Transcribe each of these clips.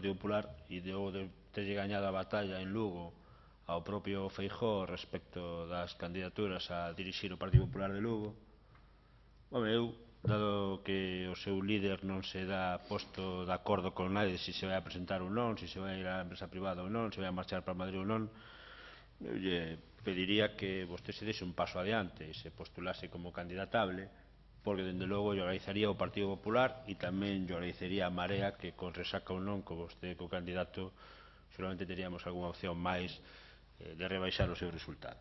Partido Popular e de terlle gañado a batalla en Lugo ao propio Feijóo respecto das candidaturas a dirixir o Partido Popular de Lugo. Eu, dado que o seu líder non se dá posto de acordo con nadie se se vai a presentar ou non, se se vai a ir á empresa privada ou non, se vai a marchar para Madrid ou non, eu lle pediría que vostede se deixe un paso adiante e se postulase como candidatable, porque dende logo lle agradecería ao Partido Popular e tamén lle agradecería a Marea que con resaca ou non, co vostede co candidato, seguramente teríamos algunha opción máis de rebaixar o seu resultado.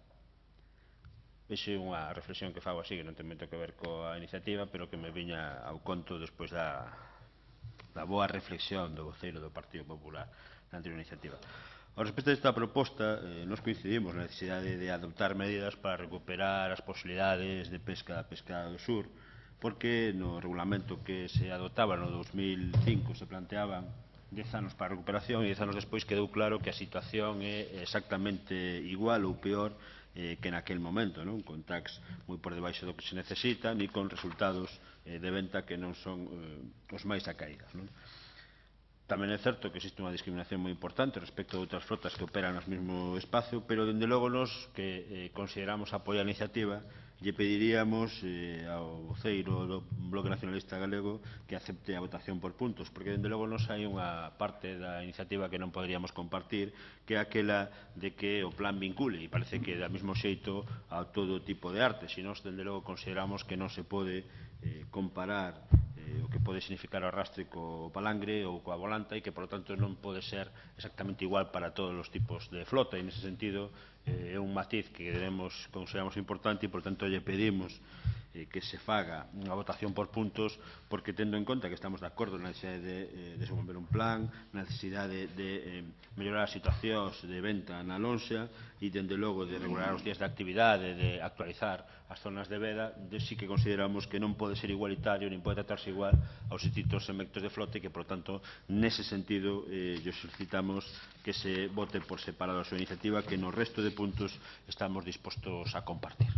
Vexe unha reflexión que fago así, que non ten moito que ver coa iniciativa, pero que me viña ao conto despois da boa reflexión do voceiro do Partido Popular na anterior iniciativa. Ao respecto desta proposta, nos coincidimos na necesidade de adoptar medidas para recuperar as posibilidades de pesca da pesca do sur, porque no regulamento que se adoptaba no 2005 se planteaban 10 anos para a recuperación e 10 anos despois quedou claro que a situación é exactamente igual ou peor que naquel momento, con tax moi por debaixo do que se necesita ni con resultados de venta que non son os máis acaídos. Tamén é certo que existe unha discriminación moi importante respecto de outras flotas que operan no mesmo espacio, pero dende logo nos que consideramos apoiar a iniciativa lle pediríamos ao voceiro do Bloque Nacionalista Galego que acepte a votación por puntos, porque dende logo nos hai unha parte da iniciativa que non poderíamos compartir, que é aquela de que o plan vincule, e parece que da mesmo xeito a todo tipo de arte, se nós dende logo consideramos que non se pode comparar o que pode significar o arrastre co palangre ou coa volanta e que, por lo tanto, non pode ser exactamente igual para todos os tipos de flota e, nese sentido, é un matiz que consideramos importante e, por tanto, lle pedimos que se faga unha votación por puntos porque, tendo en conta que estamos de acordo na necesidade de desenvolver un plan, na necesidade de mellorar as situacións de venta na lonxa e, dende logo, de regular os días de actividade, de actualizar as zonas de veda, sí que consideramos que non pode ser igualitario nin pode tratarse igual aos distintos segmentos de flote e que, por tanto, nese sentido, lle solicitamos que se vote por separado a súa iniciativa que no resto de puntos estamos dispostos a compartir.